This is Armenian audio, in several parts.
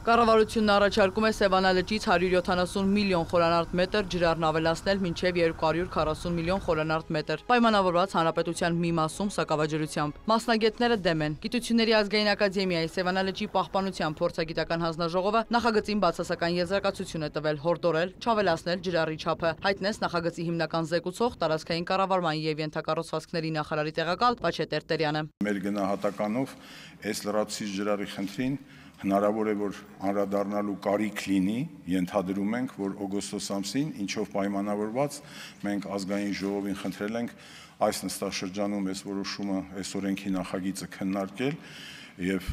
Կառավարությունն առաջարկում է Սևանա լճից 170 միլիոն խորանարդ մետր ջրառն ավելացնել մինչև 240 միլիոն խորանարդ մետր, պայմանավորված հանրապետության մի մասում սակավաջրությամբ։ Մասնագետները դեմ են։ Գիտությունների ազգային ակադեմիայի Սևանա լճի պահպանության փորձագիտական հանձնաժողովը նախագծին բացասական եզրակացություն է տվել, հորդորել չավելացնել ջրառի չափը, հայտնեց նախագծի հիմնական զեկուցող տարածքային կառավարման եւ ենթակառուցվածքների նախարարի տեղակալ Վաչե Տերտերյանը։ Մեր գնահատականով այս լրացուցիչ ջրառի խնդրին հնարավոր է, որ անդրադառնալու կարիք լինի, ենթադրում ենք, որ օգոստոս ամսին, ինչով պայմանավորված, մենք ազգային ժողովին խնդրել ենք այս նստաշրջանում այս որոշումը, այս օրենքի նախագիծը քննարկել եւ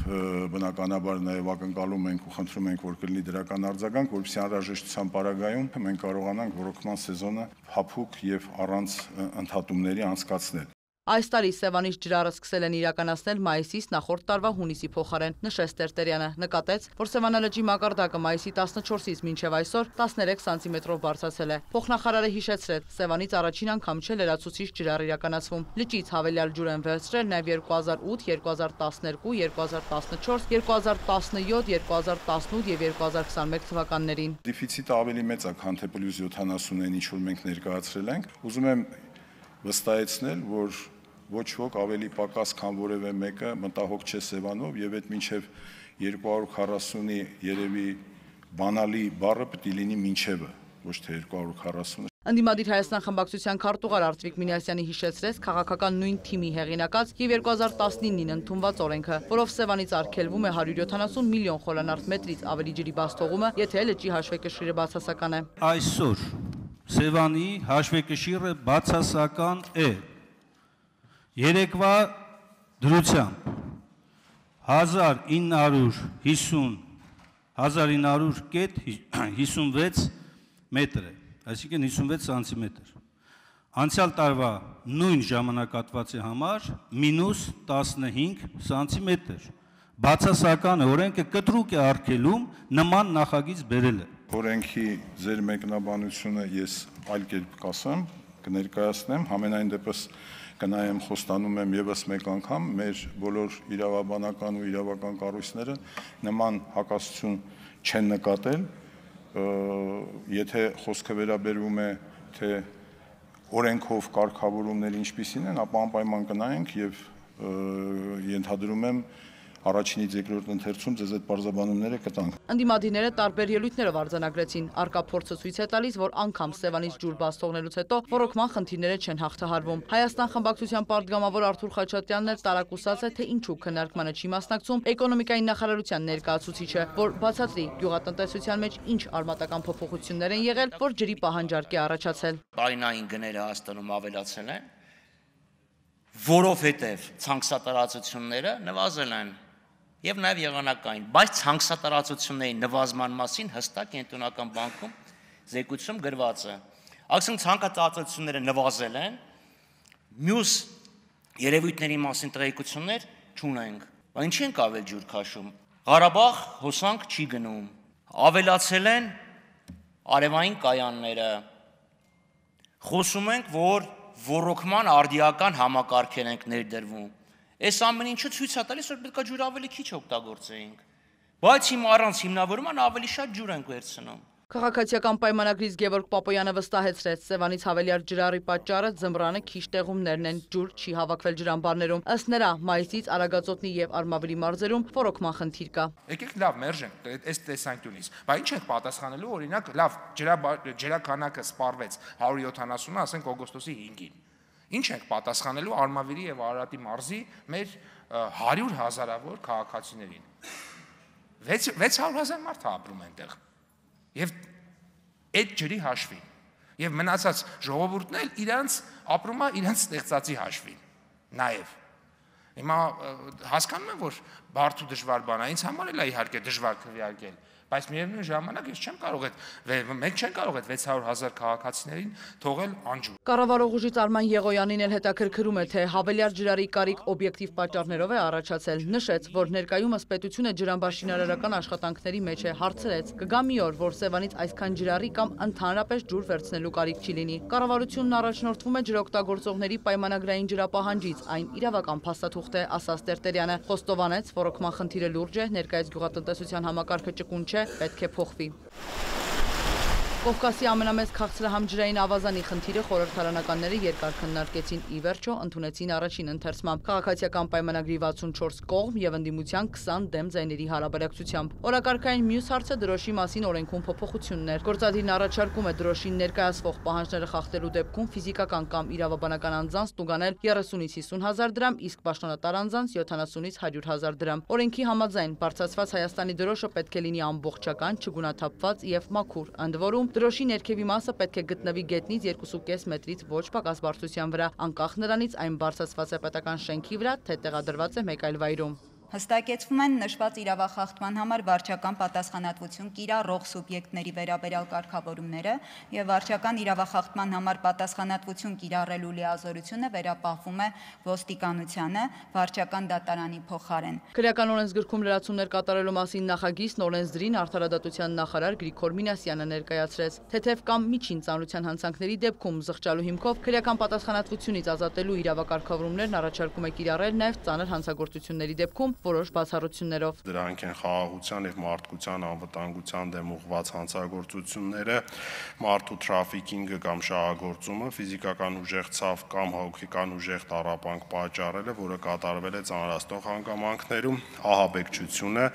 բնականաբար նաեւ ակնկալում ենք ու խնդրում ենք, որ կլինի դրական արձագանք, որպեսզի անհրաժեշտության պարագայում մենք կարողանանք ռոռոկման սեզոնը փափուկ եւ առանց ընդհատումների անցկացնել։ Այս տարի Սևանից ջրառը սկսել են իրականացնել մայիսից նախորդ տարվա հունիսի փոխարեն, նշեց Տերտերյանը, նկատեց, որ Սևանա լճի մակարդակը մայիսի 14-ից մինչև այսօր 13 սանտիմետրով բարձրացել է։ Փոխնախարարը հիշեցրեց, Սևանից առաջին անգամ չէ լրացուցիչ ջրառ իրականացվում։ Լճից հավելյալ ջուր են վերցրել նաև 2008, 2012, 2014, 2017, 2018 եւ 2021 թվականներին։ Դեֆիցիտը ավելի մեծ է, քան թե պլյուս 70-ն, ինչ որ մենք ներկայացրել ենք։ Ուզում եմ վստահեցնել, որ ոչ ոք ավելի պակաս, քան որևէ մեկը մտահոգ չէ Սևանով եւ այդ մինչեւ 240-ի երևի բանալի բառը պետք է լինի մինչեւը, ոչ թե 240-ը։ Ընդդիմադիր Հայաստան խմբակցության քարտուղար Արտվիկ Մինասյանի հիշեցրեց քաղաքական նույն թիմի հեղինակած եւ 2019-ին ընդունված օրենքը, որով Սևանից արգելվում է 170 միլիոն խորանարդ մետրից ավելի ջրի բաց թողումը, եթե լճի հաշվեկշիռը բացասական է։ Այսօր Սևանի հաշվեկշիռը բացասական է։ Երեկվա դրությամբ 1956 մետր է, այսինքն 56 սանտիմետր։ Անցյալ տարվա նույն ժամանակահատվածի համար մինուս 15 սանտիմետր։ Բացասական օրենքը կտրուկ է արգելում նման նախագիծ բերելը։ Օրենքի ձեր մեկնաբանությունը ես այլ կերպ կասեմ, կներկայացնեմ, համենայն դեպս կնայեմ, խոստանում եմ եւս մեկ անգամ, մեր բոլոր իրավաբանական ու իրավական կառույցները նման հակասություն չեն նկատել, եթե խոսքը վերաբերվում է թե օրենքով կարգավորումները ինչպիսին են, ապա անպայման կնայենք եւ ենթադրում եմ առաջինից երկրորդ ընթերցում ձեզ այդ բարձաբանումները կտանք։ Ընդդիմադիրները տարբեր ելույթներով արձանագրեցին, արկա փորձը ցույց է տալիս, որ անգամ Սևանից ջուր բաց թողնելուց հետո ռոռոկման խնդիրները չեն հաղթահարվում։ Հայաստան խմբակցության պատգամավոր Արթուր Խաչատրյանն էլ տարակուսած է, թե ինչու քննարկմանը չի մասնակցում էկոնոմիկայի նախարարության ներկայացուցիչը, որ բացատրի գյուղատնտեսության մեջ ինչ արմատական փոփոխություններ են եղել, որ ջրի պահանջարկ է առաջացել։ Տարինային գները Հայաստանում ավելացել են, որովհետև ցանքսատարածությունները նվազել են եւ նաեւ եղանակային, բայց ցանքսատարածությունների նվազման մասին հստակ կենտրոնական բանկում զեկույցում գրված է։ Այսինքն ցանքսատարածությունները նվազել են, մյուս երևույթների մասին տեղեկություններ չունենք։ Բայց ինչի ենք ավել ջուր քաշում։ Ղարաբաղ հոսանք չի գնում։ Ավելացել են արևային կայանները։ Խոսում ենք, որ ռոռոկման արդիական համակարգեր ենք ներդրվում։ Այս ամեն ինչը ցույց է տալիս, որ պետք է ջուր ավելի քիչ օգտագործեինք, բայց հիմա առանց հիմնավորման ավելի շատ ջուր ենք վերցնում։ Քաղաքացիական պայմանագրից Գևորգ Պապոյանը վստահեցրեց, Սևանից հավելյալ ջրառի պատճառը ձմռանը քիչ տեղումներն են, ջուր չի հավաքվել ջրամբարներում։ Ըստ նրա, մայիսից Արագածոտնի եւ Արմավիրի մարզերում ռոռոկման խնդիր կա։ Եկեք լավ մերժենք այս տեսանկյունից, բայց ինչ ենք պատասխանելու, օրինակ, լավ ջրաքանակը սպառվեց 170-ը, ասենք օգոստոսի 5-ին։ Ինչ ենք պատասխանելու Արմավիրի եւ Արարատի մարզի մեր 100,000-ավոր քաղաքացիներին։ 600,000 մարդ ապրում այնտեղ։ Եվ այդ ջրի հաշվին։ Եվ մնացած ժողովուրդն էլ իրանց ապրում է իրանց ստեղծածի հաշվին։ Նաեւ հիմա հասկանում եմ, որ բարդ ու դժվար բան է, ինձ համար էլ է իհարկե դժվար քվեարկել, բայց միևնույն ժամանակ ես չեմ կարող մենք չեն կարող այդ 600,000 քաղաքացիներին թողել անջուր։ Կառավարող ուժից Արման Եղոյանին էլ հետաքրքրում է, թե հավելյալ ջրառի կարիք օբյեկտիվ պատճառներով է առաջացել։ Նշեց, որ ներկայումս պետությունը ջրամբարշինարարական աշխատանքների մեջ է, հարցրեց. կգա մի օր, որ Սևանից այսքան ջրառի կամ ընդհանրապես ջուր վերցնելու կարիք չի լինի։ Կառավարությունն առաջնորդվում է ջրօգտագործողների պայմանագրային ջրապահանջից, այն իրավական փաստաթուղթ թուղթ է, ասաց Տերտերյանը։ Խոստովանեց, ռոռոկման խնդիրը լուրջ է, ներկայիս գյուղատնտեսության համակարգը ճկուն չէ, պետք է փոխվի։ Կովկասի ամենամեծ քաղցրահամջրային ավազանի խնդիրը խորհրդարանականները երկար քննարկեցին, ի վերջո ընդունեցին առաջին ընթերցմամբ քաղաքացիական պայմանագրի 64 կողմ եւ ընդդիմության 20 դեմ ձայների հարաբերակցությամբ։ Օրակարգային մյուս հարցը դրոշի մասին օրենքում փոփոխություններ։ Գործադիրն առաջարկում է դրոշին ներկայացվող պահանջները խախտելու դեպքում ֆիզիկական կամ իրավաբանական անձանց տուգանել 30-ից 50 հազար դրամ, իսկ պաշտոնատար անձանց 70-ից 100 հազար դրամ։ Օրենքի համաձայն բարձրացված Հայաստանի դրոշը պետք է լինի ամբողջական, չգունաթափված եւ մաքուր, ընդ որում դրոշի ներքևի մասը պետք է գտնվի գետնից 2.5 մետրից ոչ պակաս բարձրության վրա, անկախ նրանից այն բարձրացված է պետական շենքի վրա, թե տեղադրված է մեկ այլ վայրում։ Հստակեցվում են նշված իրավախախտման համար վարչական պատասխանատվություն կիրառող սուբյեկտների վերաբերյալ կարգավորումները եւ վարչական իրավախախտման համար պատասխանատվություն կիրառելու լիազորությունը վերապահվում է ոստիկանությանը վարչական դատարանի փոխարեն։ Քրեական օրենսգրքում լրացումներ կատարելու մասին նախագիծն օրենսդրին արդարադատության նախարար Գրիգոր Մինասյանը ներկայացրեց։ Թեթև կամ միջին ծանրության հանցանքների դեպքում զղջալու հիմքով քրեական պատասխանատվությունից ազատելու իրավակարգավորումներն առաջարկում է կիրառել նաեւ ծանր հանցագործությունների դեպքում որոշ բացառություններով։ Դրանք են խաղաղության եւ մարդկության անվտանգության դեմ ուղղված հանցագործությունները, մարդու թրաֆիքինգը կամ շահագործումը, ֆիզիկական ուժեղ ցավ կամ հոգեկան ուժեղ տառապանք պատճառելը, որը կատարվել է ծանրացնող հանգամանքներում, ահաբեկչությունը,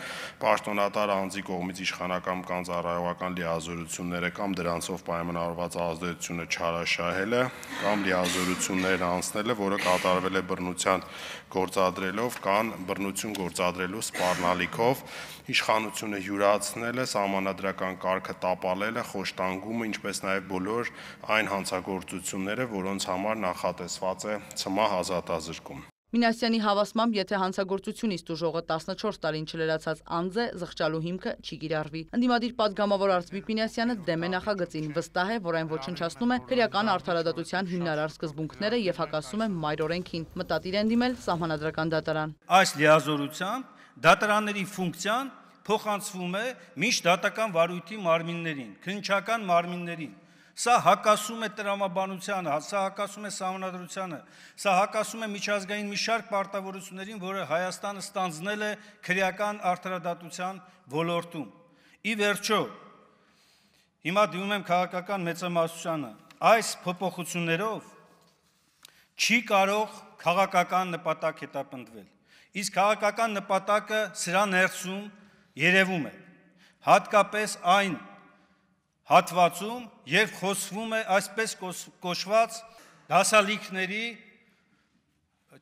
պաշտոնատար անձի կողմից իշխանական կամ ծառայողական լիազորությունները կամ դրանցով պայմանավորված ազդեցությունը չարաշահելը կամ լիազորություններ անցնելը, որը կատարվել է բռնության գործադրելով կամ բռնություն գործադրելու սպառնալիքով, իշխանությունը յուրացնելը, սահմանադրական կարգը տապալելը, խոշտանգումը, ինչպես նաև բոլոր այն հանցագործությունները, որոնց համար նախատեսված է ցմահ ազատազրկում։ Մինասյանի հավաստմամբ, եթե հանցագործությունից տուժողը 14 տարին չլրացած անձ է, զղջալու հիմքը չի կիրառվի։ Ընդդիմադիր պատգամավոր Արծվիկ Մինասյանը դեմ է նախագծին, վստահ է, որ այն ոչնչացնում է քրեական արդարադատության հիմնարար սկզբունքները եւ հակասում է մայր օրենքին։ Մտադիր են դիմել սահմանադրական դատարան։ Այս լիազորությամբ դատարանների ֆունկցիան փոխանցվում է միջդատական վարույթի մարմիններին, քննչական մարմիններին։ Սա հակասում է տրամաբանությանը, սա հակասում է սահմանադրությանը, սա հակասում է միջազգային մի շարք պարտավորություններին, որը Հայաստանը ստանձնել է քրեական արդարադատության ոլորտում։ Ի վերջո, հիմա դիմում եմ քաղաքական մեծամասնությանը, այս փոփոխություններով չի կարող քաղաքական նպատակ հետապնդվել։ Իսկ քաղաքական նպատակը սրա ներսում երևում է, հատկապես այն հատվածում, երբ խոսվում է այսպես կոչված դասալիքների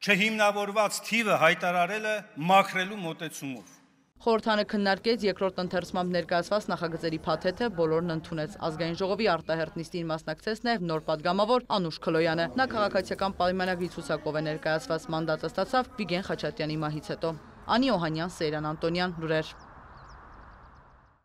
չհիմնավորված թիվը հայտարարելը մաքրելու մոտեցումով։ Խորհրդանը քննարկեց երկրորդ ընթերցմամբ ներկայացված նախագծերի փաթեթը, բոլորն ընդունեց։ Ազգային ժողովի արտահերթ նիստին մասնակցեց նաև նոր պատգամավոր Անուշ Քլոյանը։ Նա քաղաքացիական պայմանագրի ցուցակով է ներկայացված, մանդատը ստացավ Վիգեն Խաչատրյանի մահից հետո։ Անի Օհանյան, Սեյրան Անտոնյան, լուրեր։